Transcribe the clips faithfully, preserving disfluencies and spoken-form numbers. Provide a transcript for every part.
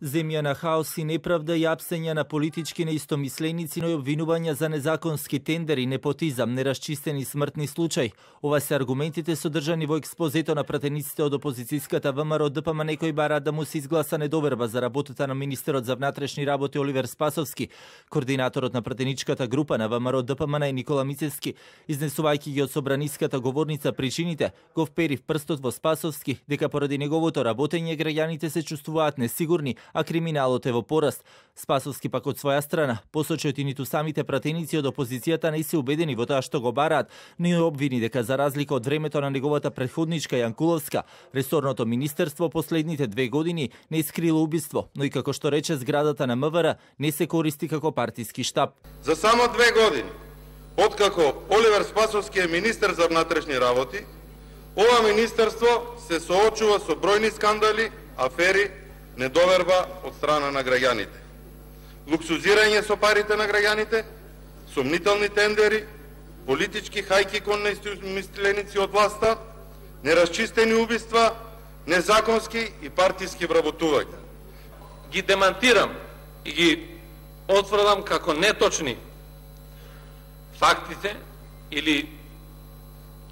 Земја на хаос и неправда и апсења на политички неистомисленици, но и обвинувања за незаконски тендери, непотизам, нерасчистени смртни случаи. Ова се аргументите содржани во експозето на пратениците од опозицијската ВМРО ДПМН кои бараат да му се изгласа недоверба за работата на министерот за внатрешни работи Оливер Спасовски. Координаторот на пратеничката група на ВМРО ДПМН Никола Мицевски, изнесувајќи ги од собраниската говорница причините, го впери в прстот во Спасовски дека поради неговото работење граѓаните се чувствуваат несигурни, а криминалот е во пораст. Спасовски пак од своја страна посочи и ниту самите пратеници од опозицијата не се убедени во тоа што го бараат, но и обвини дека за разлика од времето на неговата претходничка Јанкуловска, ресорното министерство последните две години не искрило убиство, но и како што рече зградата на МВР не се користи како партиски штаб. За само две години, откако Оливер Спасовски е министер за внатрешни работи, ова министерство се соочува со бројни скандали, афери, недоверба од страна на граѓаните. Луксузирање со парите на граѓаните, сомнителни тендери, политички хајки кон неистомисленици од власта, нерасчистени убиства, незаконски и партиски вработувања. Ги демантирам и ги отврдам како неточни фактите или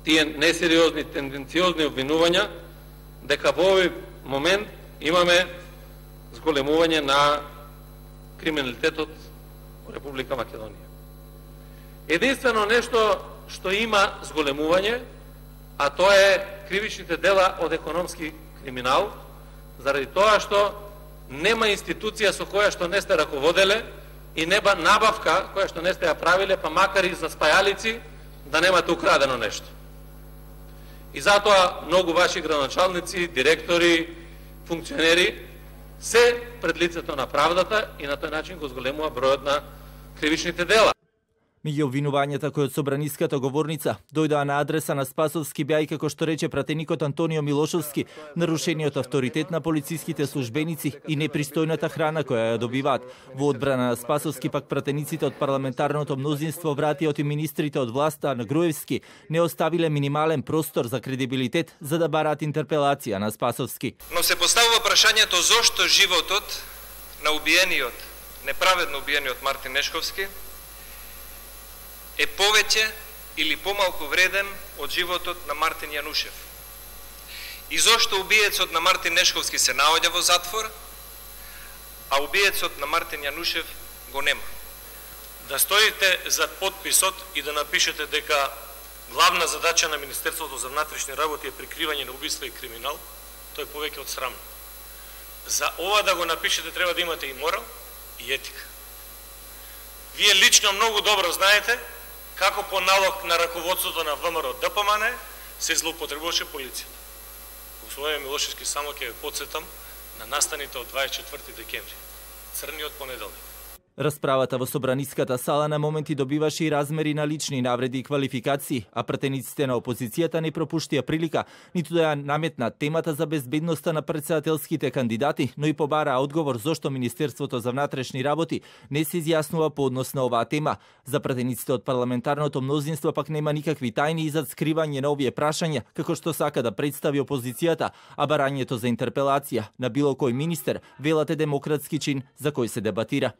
тие несериозни, тенденциозни обвинувања дека во овој момент имаме зголемување на криминалитетот во Република Македонија. Единствено нешто што има зголемување, а тоа е кривичните дела од економски криминал, заради тоа што нема институција со која што не сте раководеле и нема набавка која што не сте ја правиле, па макар и за спајалици, да немате украдено нешто. И затоа многу ваши градоначалници, директори, функционери се пред лицето на правдата и на тој начин го зголемува бројот на кривичните дела. Меѓу обвинувањата кои од собраниската говорница дојдоа на адреса на Спасовски беа и како што рече пратеникот Антонио Милошовски, нарушениот авторитет на полициските службеници и непристојната храна која ја добиваат. Во одбрана на Спасовски пак пратениците од парламентарното мнозинство вратиот и министрите од власта на Груевски не оставиле минимален простор за кредибилитет за да бараат интерпелација на Спасовски. Но се поставува прашањето зошто животот на убиениот, неправедно убиениот Мартин Нешковски е повеќе или помалку вреден од животот на Мартин Јанушев. И зошто убиецот на Мартин Нешковски се наоѓа во затвор, а убиецот на Мартин Јанушев го нема. Да стоите зад подписот и да напишете дека главна задача на Министерството за внатрешни работи е прикривање на убиства и криминал, тој е повеќе од срамно. За ова да го напишете треба да имате и морал и етика. Вие лично многу добро знаете како по налог на раководството на ВМРО ДПМН се злоупотребуваше полицијата. Господин Милошевски, само ќе ве потсетам на настаните од дваесет и четврти декември, црниот понеделник. Расправата во собраниската сала на моменти добиваше и размери на лични навреди и квалификации, а пратениците на опозицијата не пропуштија прилика ниту да ја наметнат темата за безбедноста на претседателските кандидати, но и побара одговор зошто Министерството за внатрешни работи не се изјаснува по однос на оваа тема. За пратениците од парламентарното мнозинство пак нема никакви тајни изад скривање на овие прашања, како што сака да представи опозицијата, а барањето за интерпелација на било кој министер велат е демократски чин за кој се дебатира.